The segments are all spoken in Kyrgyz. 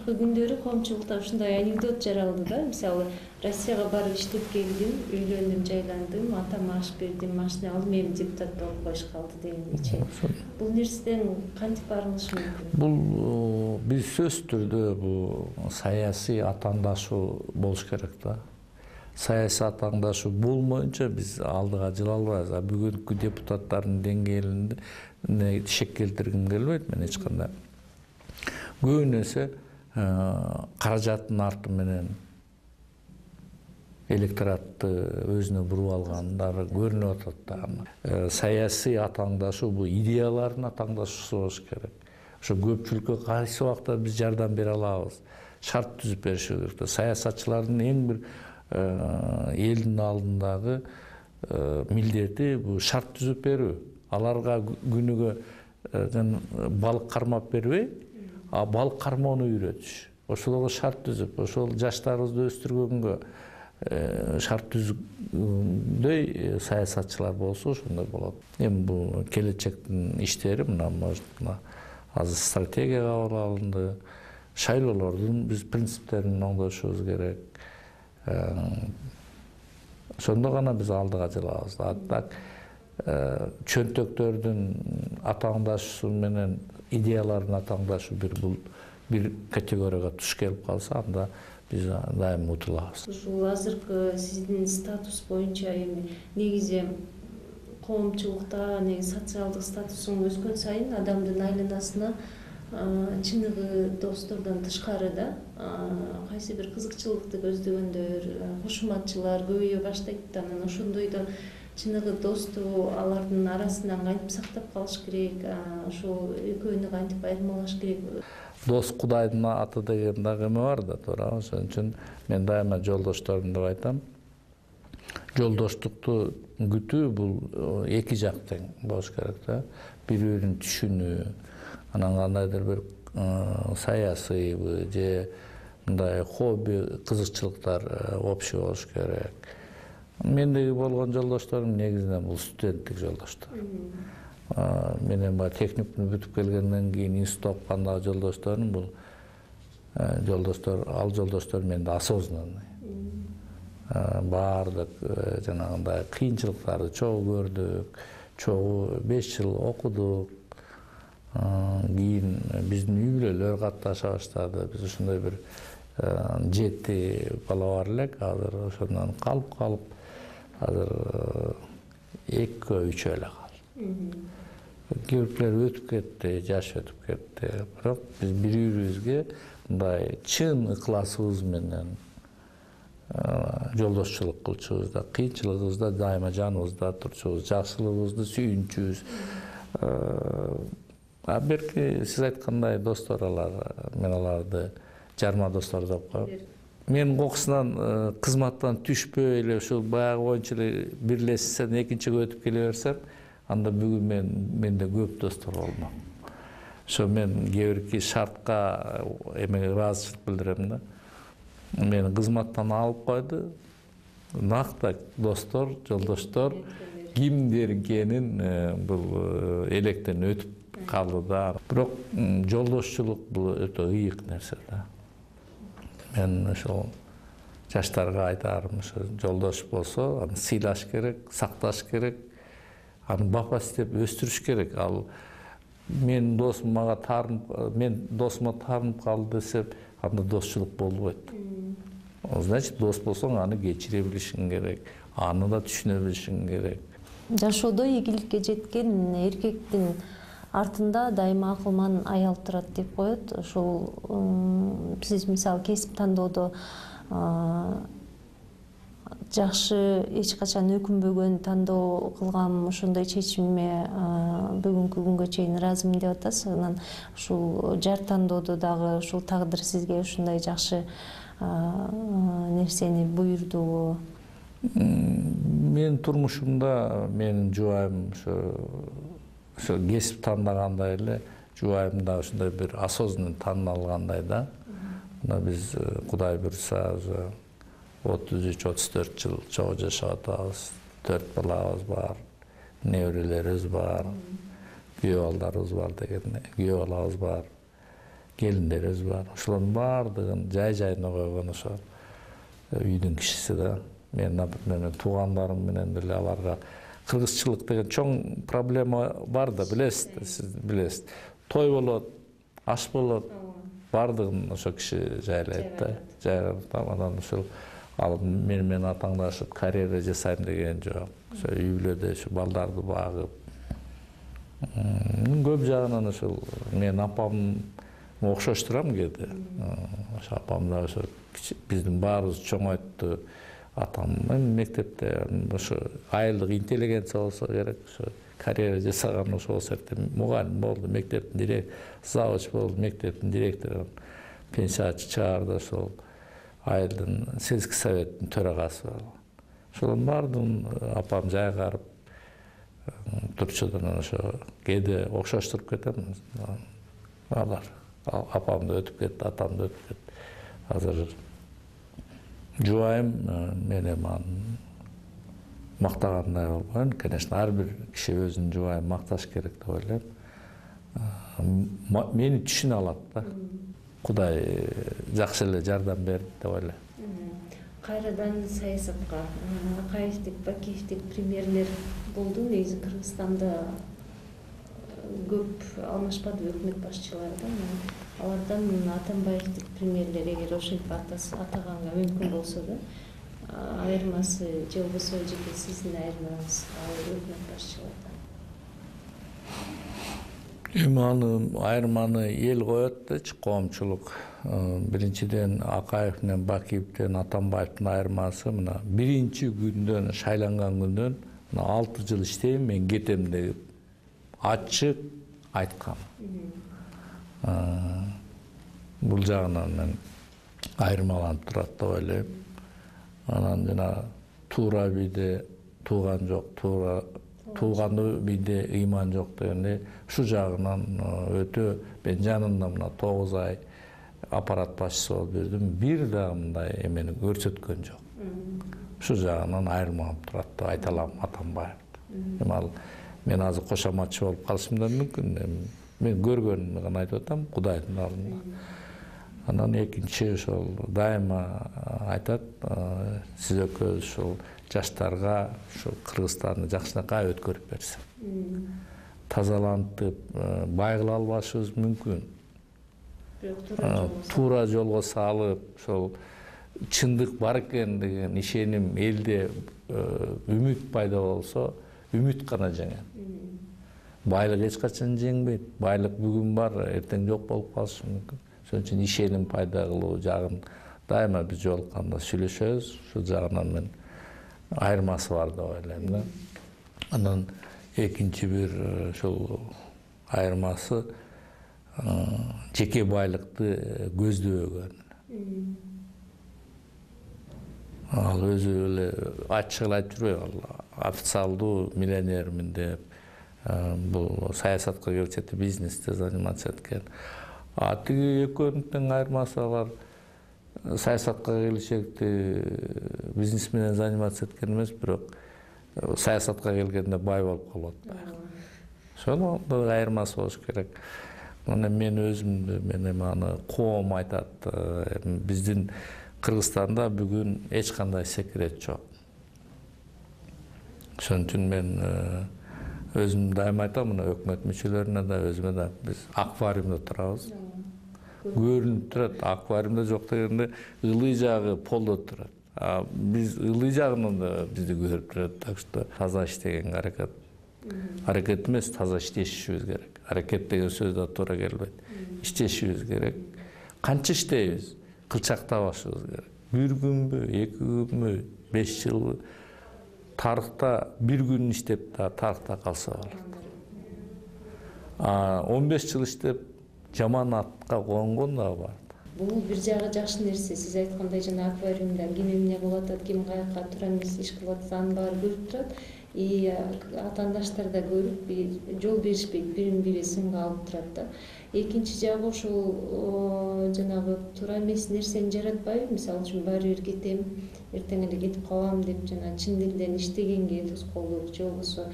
акыркы күндөрү коомчулукта ушундай анекдот жаралды да. Мисалы, Россияга барып иштеп келдим, үйлөндүм, жайландым, атама аш бердим, машина алдым, эми депутат болуп коюш калды дегендейчи. Бул нерседен кантип арылыш мүмкүн? Бул биз сөзсүз түрдө бул саясий атаандашуу болуш керек да. Саясий атаандашуу болмоюнча биз алдыга жыла албайбыз. Бүгүнкү депутаттардын деңгээлине шек келтиргим келбейт мен эч кандай. Көбүн эсе каражаттын арты менен электоратты өзүнө буруп алгандары көрүнүп атат да. Саясий атаандашуу бул идеялардын атаандашуусу болуш керек. Ошо көпчүлүккө кайсы убакта биз жардам бере алабыз, шарт түзүп бериши керек да. Саясатчылардын эң бир элдин алдындагы милдети бул шарт түзүп берүү. Аларга күнүгө балык кармап бербей, балык кармоону үйрөтүш. Ошолорго шарт түзүп, ошол жаштарыбызды өстүргөнгө шарт түзгөндөй саясатчылар болсо ошондой болот. Эми бул келечектин иштери мына азыр стратегия кабыл алынды. Шайлоолордун биз принциптерин оңдошубуз керек. Ошондо гана биз алдыга жылабыз. Так чөнтөктөрдүн атаандашуусу менен идеялардын атаандашуу бир категорияга туш келип калса, анда биз дайыма утулабыз. Ушул азыркы сиздин статус боюнча эми негизи коомчулукта социалдык статусуң өскөн сайын адамдын айланасына чыныгы достордон тышкары да кайсы бир кызыкчылыкты көздөгөндөр, кошуматчылар көбөйө баштайт. Анан ошондойдо чыныгы досту алардын арасынан кантип сактап калыш керек, ошол экөөнү кантип айырмалаш керек? Дос Кудайдын аты деген дагы эме бар да, туура. Ошон үчүн мен дайыма жолдошторум деп айтам. Жолдоштукту күтүү бул эки жактан болуш керек да. Бири-бирин түшүнүү, анан кандайдыр бир саясий же мындай хобби, кызыкчылыктар общий болуш керек. Мендеги болгон жолдошторум негизинен бул студенттик жолдоштор. Менен баягы техникумду бүтүп келгенден кийин институт окугандагы жолдошторум бул ал жолдоштор менде осознанный. Баардык жанагындай кыйынчылыктарды чогуу көрдүк, чогуу 5 жыл окудук. Кийин биздин үй бүлөлөр катташа баштады. Биз ошондой бир 7 бала бар элек, азыр ошондон калып азыр 2-3 эле калды. Кээбирлер өтүп кетти, жаш өтүп кетти. Бирок биз бири-бирибизге мындай чын ыкласыбыз менен жолдошчулук кылчубуз да, кыйынчылыгыбызда дайыма жаныбызда турчубуз, жакшылыгыбызды сүйүнчүбүз. Берки сиз айткандай достор мен аларды жарма достор деп коем. Мен кокусунан кызматтан түшпөй эле ушул баягы боюнча эле бирлешсем, экинчиге өтүп келе берсем, анда бүгүн менде көп достор болмок. Ошо мен кээ бирки шартка эмеге ыраазычылык билдирем да. Мени кызматтан алып койду. Накта достор, жолдоштор кимдер экенин бул электен өтүп калды да. Бирок жолдошчулук бул өтө ыйык нерсе да. Мен ошол жаштарга айтарым, ошо жолдош болсо, аны сыйлаш керек, сакташ керек, аны бапа издеп өстүрүш керек. Ал мен досума таарынып калды десеп, анда досчулук болбойт. Значит, дос болсоң, аны кечире билишиң керек, аны да түшүнө билишиң керек. Жашоодо ийгиликке жеткен эркектин артында дайыма акылман аял турат деп коет. Ошол сиз мисалы кесип тандоодо жакшы, эч качан өкүнбөгөн тандоо кылгам, ошондой чечимиме бүгүнкү күнгө чейин ыраазымын деп атасыз. Анан ушул жар тандоодо дагы ушул тагдыр сизге ушундай жакшы нерсени буйрдубу? Менин турмушумда менин жубайым ошо кесип тандагандай эле, жубайым да ушундай бир осознанный тандап алгандай да. Мына биз Кудай буйрса 33-34 жыл чогуу жашап атабыз. 4 балабыз бар, неберелерибиз бар, күйөө балдарыбыз бар дегендей, күйөө балабыз бар. келиндерибиз бар. Ошолордун баардыгын жай-жайына койгон ошо үйдүн кишиси да. Мен, например, туугандарым менен деле аларга кыргызчылык деген чоң проблема бар да, билесиз, сиз билесиз. Той болот, аш болот, баардыгын ошо киши жайлайт да. Жайгап, анан ошол ал менен атаңдашып карьера жасайм деген жок. Ошо үй бүлөдө ошо балдарды багып. Көп жагынан ошол мен апам окшоштурам кээде. Ошо апам да ошо биздин баарыбыз чоңойтту. Атам мектепте ошо айылдык интеллигенция болсо керек, ошо карьера жасаган ошо болсо мугалим болду, мектептин директору, завуч болду, мектептин директору, пенсия чыгарды, ошол айылдын сельский советтин төрагасы болду. Ошолордун баардыгын апам жайгарып турчудан ошо кээде окшоштуруп кетем. Алар апамды өтүп кетти, атамды өтүп кетти. Азыр жубайым менен аны мактагандай болбойм. Конечно, ар бир киши өзүнүн жубайын макташ керек деп ойлойм. Мени түшүнө алат да. Кудай жакшы эле жардам берди деп ойлойм. Кайрадан саясатка Акаевдик, Бакиевдик премьерлер болду. Негизи Кыргызстанда көп алмашпады өкмөт башчылары да. Алардан Атамбаевдик премьерлер эгер ошентип атаганга мүмкүн болсо да, айырмасы же болбосо жеке сиздин айырмаңыз ал өкмөт башчылардан. Аны айырманы эл коет дечи, коомчулук. Биринчиден Акаев менен Бакиевден Атамбаевдин айырмасы мына биринчи күндөн, шайланган күндөн 6 жыл иштейм, мен кетем деп ачык айткан. Бул жагынан мен айырмаланып турат деп ойлойм. Анан жана туура бийде тууган жок, тууганды бийде ыйман жок дегенде ушул жагынан өтө мен жанында мына 9 ай аппарат башчысы болуп жүрдүм. Бир дагы мындай эмени көрсөткөн жок. Ушул жагынан айырмаланып турат деп айта алам Атамбаев. Ал мен азыр кошоматчы болуп калышым да мүмкүн. Мен көргөнүмдү гана айтып атам Кудайдын алдында. Анан экинчи ошол дайыма айтат, сиз экөөбүз ушул жаштарга ушул Кыргызстанды жакшынакай өткөрүп берсе. Тазалантып, байгыла албашыбыз мүмкүн. Туура жолго салып, ошол чындык бар экен деген ишеним элде үмүт пайда болсо, үмүт гана жеңет. Байлык эч качан жеңбейт. Байлык бүгүн бар, эртең жок болуп калышы мүмкүн. Ошон үчүн ишеним пайда кылуу жагын дайыма биз жолукканда сүйлөшөбүз. Ушул жагынан мен айырмасы бар деп ойлойм да. Анан экинчи бир ошол айырмасы жеке байлыкты көздөбөгөн. Ал өзү эле ачык эле айтып жүрбөйбү, официалдуу миллионермин деп, бул саясатка келчекте бизнесте заниматься эткен. Тиги экөөнүн айырмасы алар саясатка келишекти бизнес менен заниматься эткен эмес, бирок саясатка келгенде бай болуп калат. Ошонун айырмасы болуш керек. Мына мен өзүмдү менен аны коом айтат. Биздин Кыргызстанда бүгүн эч кандай секрет жок. Ошон үчүн мен өзүм дайыма айтам, мына өкмөт мүчөлөрүнө да, өзүмө да биз аквариумда турабыз. Көрүнүп турат, аквариумда жок дегенде ылый жагы полдо турат. Биз ылый жагынан да бизди көрүп турат. Так что таза иштегенге аракет эмес, таза иштешибиз керек. Аракет деген сөз да туура келбейт. Иштешибиз керек. Канча иштейбиз? Кылчактабашыбыз керек. Бир күнбү, 2 күнбү, 5 жылбы? Тарыхта бир күн иштеп да тарыхта калса болот. 15 жыл иштеп жаман атка конгон да бар. Бул бир жагы жакшы нерсе. Сиз айткандай жана аквариумдан ким эмне кылып атат, ким каяка тура эмес иш кылып атат, анын баары көрүп турат. Атаандаштар да көрүп, жол беришпейт, бирин бири сынга алып турат да. Экинчи жагы ошол жанагы туура эмес нерсени жаратпайбы? Мисалы үчүн баары бир кетем, эртең эле кетип калам деп жана чын дилден иштегенге тоскоолдук, же болбосо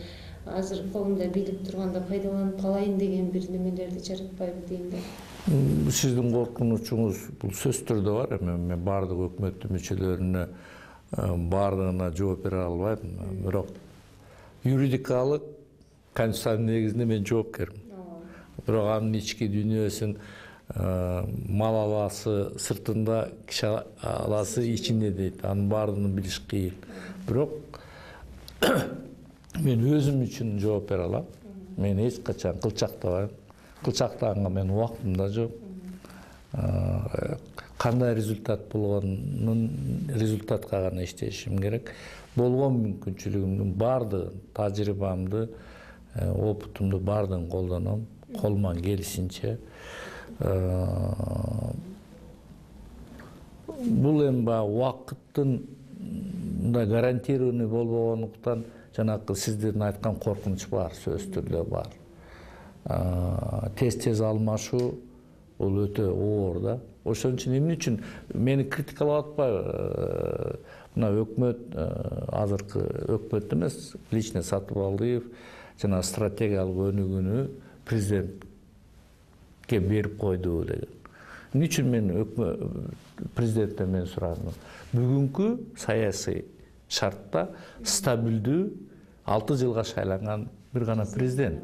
азыр колумда бийлик турганда пайдаланып калайын деген бир немелерди жаратпайбы дейм да. Сиздин коркунучуңуз бул сөзсүз түрдө бар. Мен баардык өкмөттүн мүчөлөрүнө баардыгына жооп бере албайм. Бирок юридикалык конституциянын негизинде мен жоопкермин. Бирок анын ички дүйнөсүн мал аласы сыртында, киши аласы ичинде дейт. Анын баардыгын билиш кыйын. Бирок мен өзүм үчүн жооп бере алам. Мен эч качан кылчактабайм. Кылчактаганга менин убактым да жок. Кандай результат болгонун результатка гана иштешим керек. Болгон мүмкүнчүлүгүмдүн баардыгын, тажрыйбамды, опытымды баардыгын колдоном. Колуман келишинче. Бул эми баягы убакыттын да гарантированный болбогондуктан жанакы сиздердин айткан коркунуч бар, сөзсүз түрдө бар. Тез алмашуу бул өтө оор да. Ошон үчүн эмне үчүн мени критикалап атпайбы? Мына өкмөт, азыркы өкмөт эмес, лично Сатыбалдиев жана стратегиялык өнүгүүнү президентке берип койду деген. Эмне үчүн мен президенттен мен сурадым? Бүгүнкү саясий шартта стабилдүү 6 жылга шайланган бир гана президент.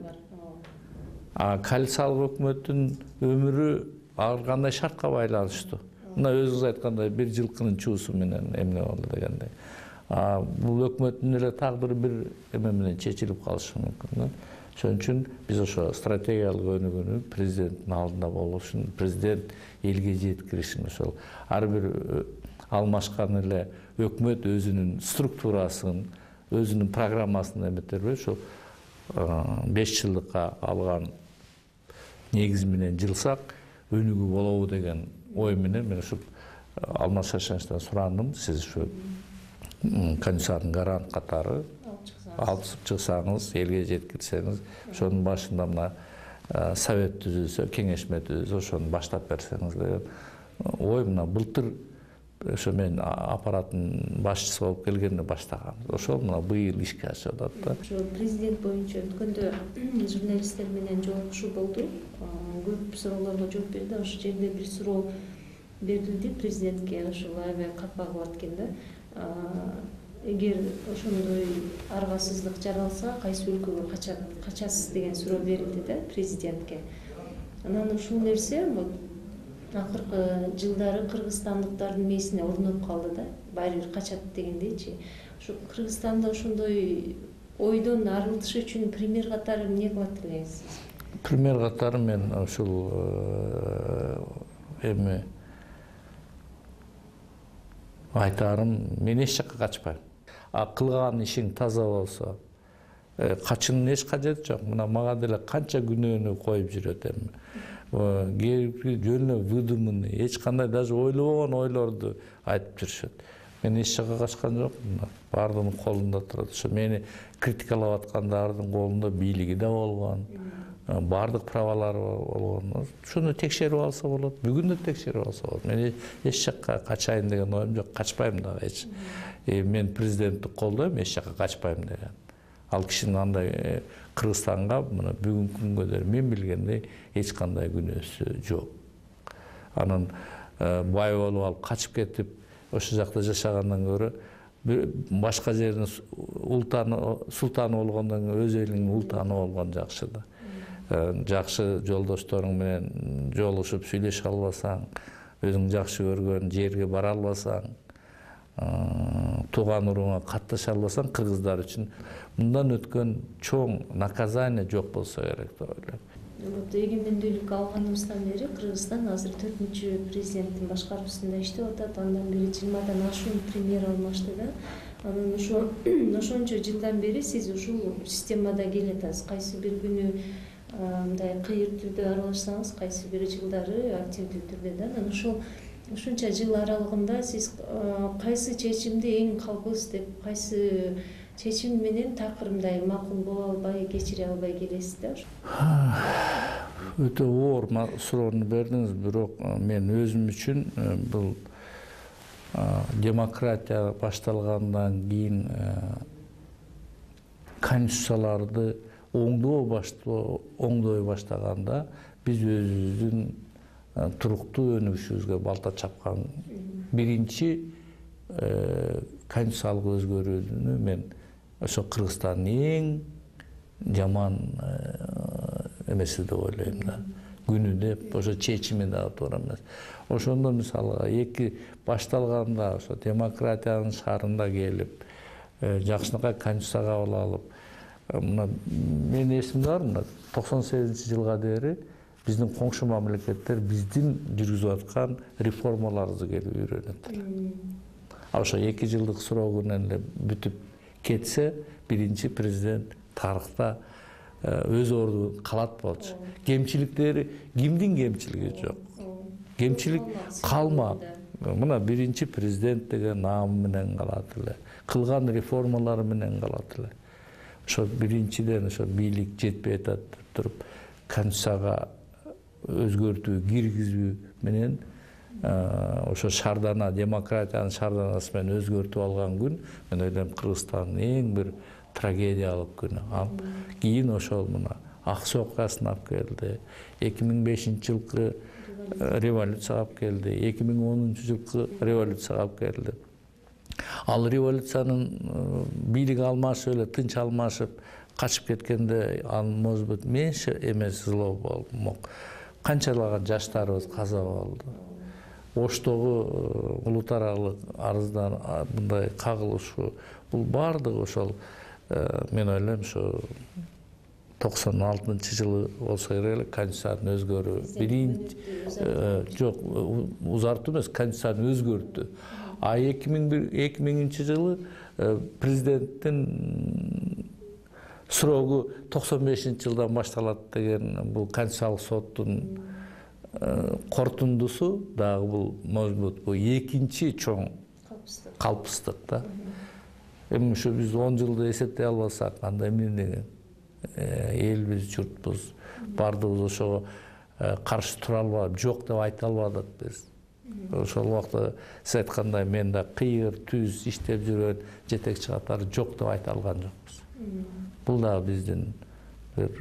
Коалициялык өкмөттүн өмүрү ар кандай шартка байланыштуу. Мына өзүңүз айткандай бир жылкынын чуусу менен эмне болду дегендей. Бул өкмөттүн эле тагдыры бир эме менен чечилип калышы мүмкүн. Ошон үчүн биз ошо стратегиялык өнүгүүнү президенттин алдында болушун, президент элге жеткиришин, ошол ар бир алмашкан эле өкмөт өзүнүн структурасын, өзүнүн программасын эметтербей, ошо 5 жылдыкка алган негиз менен жылсак өнүгүү болобу деген ой менен мен ушу Алмаз Шашановичтен сурандым. Сиз ушу конституциянын гарант катары алып чыксаңыз, элге жеткирсеңиз, ошонун башында мына совет түзүлсө, кеңешме түзүлсө, ошону баштап берсеңиз деген ой. Мына былтыр ошо мен аппараттын башчысы болуп келгенде баштагам. Ошол мына быйыл ишке ашып атат да. Ошо президент боюнча өткөндө журналисттер менен жолугушуу болду. Көп суроолорго жооп берди. Ошол жерде бир суроо берилди президентке, ошол аябай капа кылат экен да. Эгер ошондой аргасыздык жаралса, кайсы өлкөгө качасыз деген суроо берилди да президентке. Анан ушул нерсе акыркы жылдары кыргызстандыктардын мээсине орноп калды да. Баары бир качат дегендейчи. Ушу Кыргызстанда ошондой ойдон арылтыш үчүн пример катары эмне кылат элеңиз? Пример катары мен ушул эми айтарым, мен эч жакка качпайм. Кылган ишиң таза болсо, качуунун эч кажети жок. Мына мага деле канча күнөөнү коюп жүрөт эми. Жөн эле выдуманный, эч кандай даже ойлобогон ойлорду айтып жүрүшөт. Мен эч жакка качкан жокмун. Баардыгынын колунда турат. Ошо мени критикалап аткандардын колунда бийлиги да болгон, баардык правалары болгон. Ошону текшерип алса болот. Бүгүн да текшерип алса болот. Мен эч жакка качайын деген оюм жок. Качпайм дагы эч. Мен президентти колдойм, эч жакка качпайм деген. Ал кишинин андай Кыргызстанга мына бүгүнкү күнгө мен билгендей эч кандай күнөөсү жок. Анын бай болуп алып качып кетип ошол жакта жашагандан көрө башка жердин султаны болгондон кийин өз элиңдин ултаны болгон жакшы да. Жакшы жолдошторуң менен жолугушуп сүйлөшө албасаң, өзүң жакшы көргөн жерге бара албасаң, тууган урууңа катташа албасаң, кыргыздар үчүн мындан өткөн чоң наказание жок болсо керек деп ойлойм. Эгемендүүлүк алганыбыздан бери Кыргызстан азыр 4-чү президенттин башкаруусунда иштеп атат. Андан бери 20-дан ашуун премьер алмашты да. Анан ошончо жылдан бери сиз ушул системада келатасыз. Кайсы бир күнү мындай кыйыр түрдө аралашсаңыз, кайсы бир жылдары активдүү түрдө да. Анан ушунча жыл аралыгында сиз кайсы чечимди эң калбыс деп, кайсы чечим менен такыр мындай макул боло албай, кечире албай келесиз да? Өтө оор суроону бердиңиз, бирок мен өзүм үчүн бул демократия башталгандан кийин конституцияларды оңдой баштаганда биз өзүбүздүн туруктуу өнүгүшүбүзгө балта чапкан биринчи конституциялык өзгөрүүнү мен ошо Кыргызстандын эң жаман эмеси деп ойлойм да, күнү деп, ошо чечими дагы туура эмес. Ошондо мисалы эки башталганда ошо демократиянын шаарында келип, жакшынакай конституция кабыл алып, мына менин эсимде бар, мына 98-жылга бери биздин коңшу мамлекеттер биздин жүргүзүп аткан реформаларыбызды келип үйрөнөт. Ошо 2 жылдык срогу менен эле бүтүп кетсе, биринчи президент тарыхта өз ордун калат болчу. Кемчиликтери, кимдин кемчилиги жок. Кемчилик калмак. Мына биринчи президент деген наамы менен калат эле. Кылган реформалары менен калат эле. Ошо биринчиден ошо бийлик жетпей атат деп туруп, конституцияга өзгөртүү киргизүү менен ошо шаардана, демократиянын шаарданасы менен өзгөртүп алган күн, мен ойлойм Кыргызстандын эң бир трагедиялык күнү. Ал кийин ошол мына Аксы окуясына алып келди. 2005-жылкы революцияга алып келди. 2010-жылкы революцияга алып келди. Ал революциянын бийлик алмашып эле тынч алмашып качып кеткенде, ал может быть меньше эмес зло болмок. Канчалаган жаштарыбыз каза болду. Оштогу улутаралык арыздан мындай кагылышуу, бул баардыгы ошол мен ойлойм ушу 96-жылы болсо керек эле конституцияны өзгөрүү. Биринчи жок, узартуу эмес, конституцияны өзгөрттү. А 2000-жылы президенттин срогу 95-жылдан башталат деген бул конституциялык соттун корутундусу дагы бул может быть бул экинчи чоң калпыстык да. Эми ушу биз 10 жылды эсептей албасак, анда эмне деген элбиз, журтпуз, баардыгыбыз ошого каршы тура албадык, жок деп айта албадык биз. Ошол убакта сиз айткандай мен да кыйыр түз иштеп жүргөн жетекчи катары жок деп айта алган жокпуз. Бул да биздин бир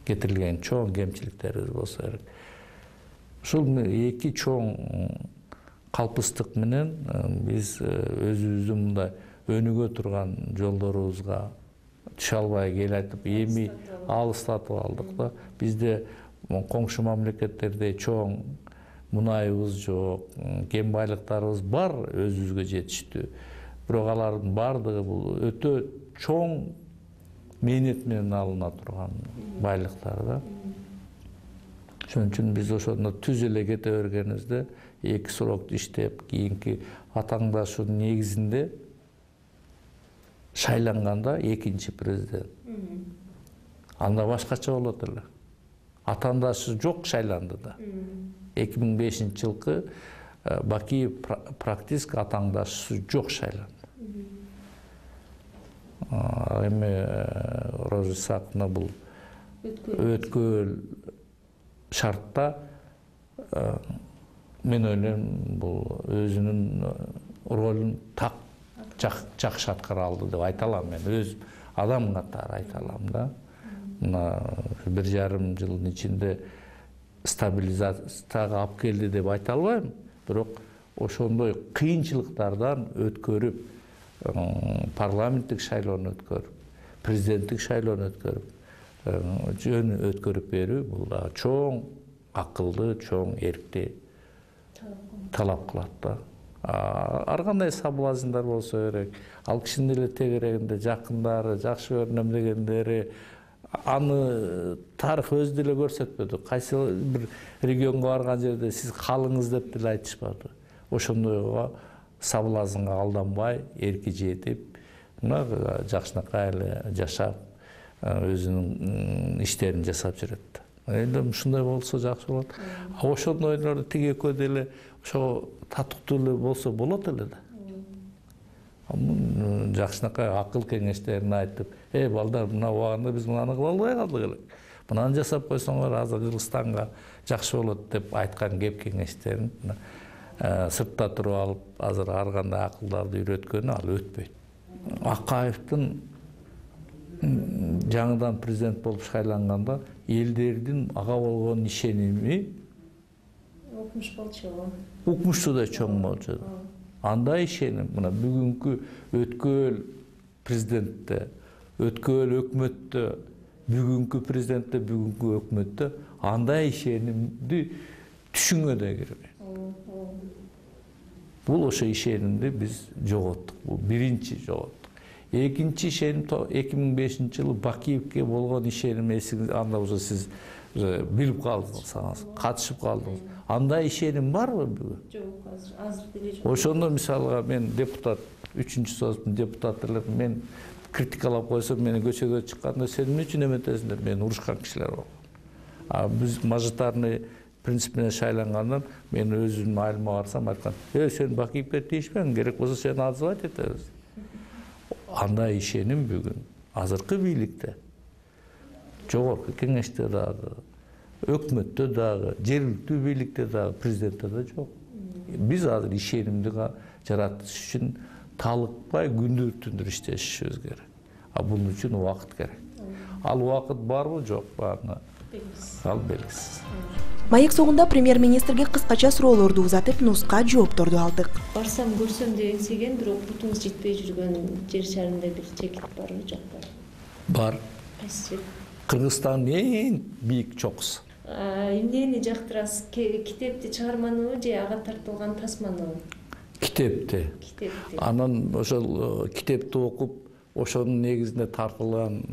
кетирилген чоң кемчиликтерибиз болсо керек. Ушул эки чоң калпыстык менен биз өзүбүздүн мындай өнүгө турган жолдорубузга түшө албай келатып, эми алыстатып алдык да. Бизде коңшу мамлекеттердей чоң мунайыбыз жок, кен байлыктарыбыз бар, өзүбүзгө жетиштүү. Бирок алардын баардыгы бул өтө чоң мээнет менен алына турган байлыктар да. Ошон үчүн биз ошондо түз эле кете бергенибизде, 2 срокду иштеп, кийинки атаңдашуунун негизинде шайланганда экинчи президент. Анда башкача болот эле. Атаңдашы жок, шайланды да. 2005-жылкы Бакиев практически атаңдашысы жок шайланды. Эми Роза Исаковна бул өткөл шартта мен ойлойм бул өзүнүн ролун так жакшы аткара алды деп айта алам. Мен өз адам катары айта алам да. Мына 1,5 жылдын ичинде стабилизацияга алып келди деп айта албайм, бирок ошондой кыйынчылыктардан өткөрүп, парламенттик шайлоону өткөрүп, президенттик шайлоону өткөрүп, жөн өткөрүп берүү бул дагы чоң акылды, чоң эркти талап кылат да. Ар кандай соблазндар болсо керек, ал кишинин эле тегерегинде жакындары, жакшы көрүнөм дегендери, аны тарых өзү деле көрсөтпөдү. Кайсы бир регионго барган жерде сиз калыңыз деп деле айтышпады. Ошондойго соблазнга алданбай, эрки жетип, мына жакшынакай эле жашап, өзүнүн иштерин жасап жүрөт. Эми ушундай болсо жакшы болот. Ошондойлор тиги экөө деле ошо татыктуу эле болсо болот эле да. Жакшынакай акыл кеңештерин айтып, балдар, мына убагында биз мынаны кыла албай калдык эле. Мынаны жасап койсоңор азыр Кыргызстанга жакшы болот деп айткан кеп кеңештерин сыртта туруп алып, азыр ар кандай акылдарды үйрөткөнү ал өтпөйт. Акаевдин жаңыдан президент болуп шайланганда элдердин ага болгон ишеними укмуш болчу. Укмушту да чоң болчу. Андай ишеним мына бүгүнкү өткөл президентте, өткөл өкмөттө, бүгүнкү президентте, бүгүнкү өкмөттө андай ишенимди түшүнгө да кирбейт. Бул ошо ишенимди биз жоготтук. Бул биринчи жоготтук. Экинчи ишеним 2005-жылы Бакиевке болгон ишеним эсиңиз анда уже сиз билип калдыңыз, катышып калдыңыз. Андай ишеним барбы бүгүн? Жок, азыр деле жок. Ошондо мисалга мен депутат, 3-союздун депутаты элем, мен критикалап койсом, мени көчөгө чыкканда сен эмне үчүн эметесиң деп мени урушкан кишилер болгон. А биз мажоритарный принципине шайлангандан мен өзүмдүн айылыма барсам айткан, сен Бакиевке тийишпең, керек болсо сени отзывать этебиз. Андай ишеним бүгүн азыркы бийликте, жогорку кеңеште дагы, өкмөттө дагы, жергиликтүү бийликте дагы, президентте да жок. Биз азыр ишенимди жаратыш үчүн талыкпай күндүр түндүр иштешибиз керек. А бунун үчүн убакыт керек. Ал убакыт барбы, жокпу, ал белгисиз. Маек соңунда премьер-министрге кыскача суроолорду узатып, нуска жоопторду алдык. Барсам көрсөм деп эңсеген, бирок бутуңуз жетпей жүргөн жер шарында бир чекит барбы, жокпу? Бар. Кайсы? Кыргызстандын эң бийик чокусу. Эмнени жактырасыз? Китепти чыгарманыбы же ага тартылган тасманыбы? Китепти. Анан ошол китепти окуп, ошонун негизинде тартылган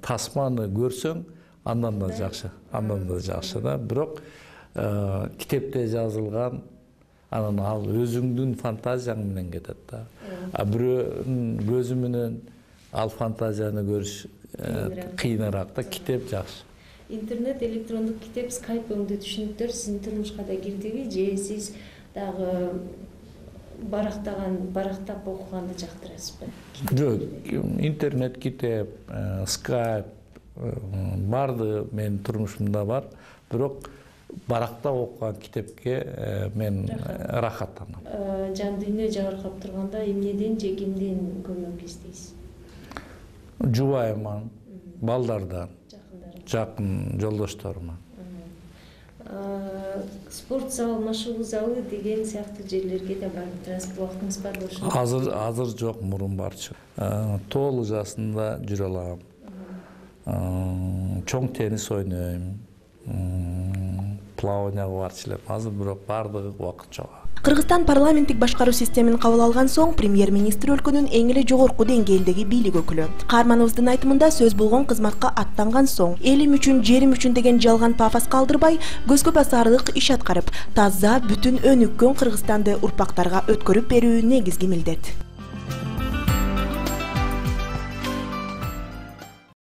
тасманы көрсөң, андан да жакшы да. Бирок китепте жазылган, анан ал өзүңдүн фантазияң менен кетет да. А бирөөнүн көзү менен ал фантазияны көрүш кыйыныраак да, китеп жакшы. Интернет, электрондук китеп, скайп өңдүү түшүнүктөр сиздин турмушка да кирдиби, же сиз дагы барактап окуганды жактырасызбы? Жок, интернет китеп, скайп барды менин турмушумда бар, бирок баракта окуган китепке мен рахаттанам. Жан дүйнө жабыркап турганда эмнеден же кимден көмөк издейсиз? Жубайыман, балдардан, жакын жолдошторуман. Спорт зал, машыгуу залы деген сыяктуу жерлерге да барып турасыз, убактыңыз бар болушу? Азыр жок, мурун барчу. Тоолу жасында жүрө алам. Чоң теннис ойнойм. Плаванияга барчу элем. Азыр бирок бардыгы убакыт жок. Кыргызстан парламенттик башкаруу системин кабыл алган соң премьер-министр өлкөнүн эң эле жогорку деңгээлдеги бийлик өкүлү. Каармановдун айтымында сөз болгон кызматка аттанган соң элим үчүн, жерим үчүн деген жалган пафос калтырбай, көзгө басарлык иш аткарып, таза, бүтүн өнүккөн Кыргызстанды урпактарга өткөрүп берүү негизги милдет.